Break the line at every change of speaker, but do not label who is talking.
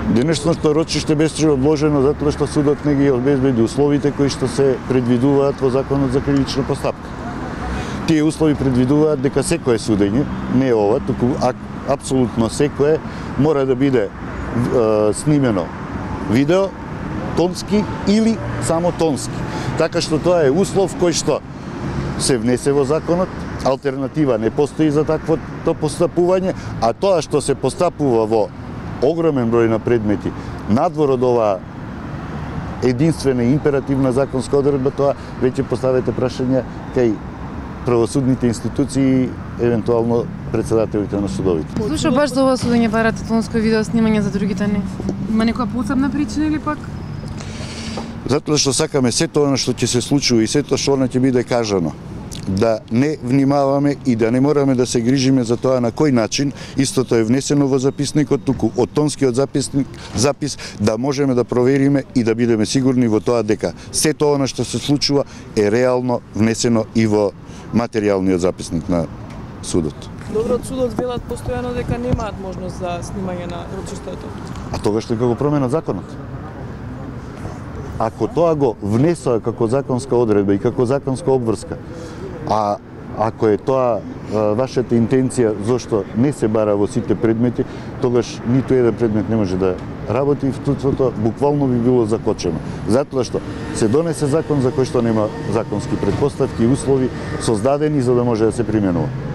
Денешното рочиште беше одложено затоа што судот не ги обезбеди условите кои што се предвидуваат во Законот за кривична постапка. Тие услови предвидуваат дека секое судење, не ова, туку апсолутно секое, мора да биде снимено видео, тонски или само тонски. Така што тоа е услов кој што се внесе во законот, алтернатива не постои за таквото постапување, а тоа што се постапува во огромен број на предмети надвор од оваа единствена и императивна законска одредба, тоа веќе поставете прашање кај правосудните институции, евентуално председателите на судовите.
Зошто баш за ова судење барате тонско видео снимање, за другите не? Има некоја посебна причина или пак?
Затоа што сакаме сето она што ќе се случува и сето што она ќе биде кажано, да не внимаваме и да не мораме да се грижиме за тоа на кој начин истото е внесено во записникот, туку од тонскиот запис да можеме да провериме и да бидеме сигурни во тоа дека сето она што се случува е реално внесено и во материјалниот записник на судот.
Добро, од судот велат постојано дека немаат можност за снимање на рочиштето.
А тогаш нека го променат законот. Ако тоа го внесоа како законска одредба и како законска обврска, а ако е тоа вашата интенција зошто не се бара во сите предмети, тогаш ниту еден предмет не може да работи и встуството буквално би било закочено. Затоа што се донесе закон за кој што нема законски претпоставки и услови создадени за да може да се применува.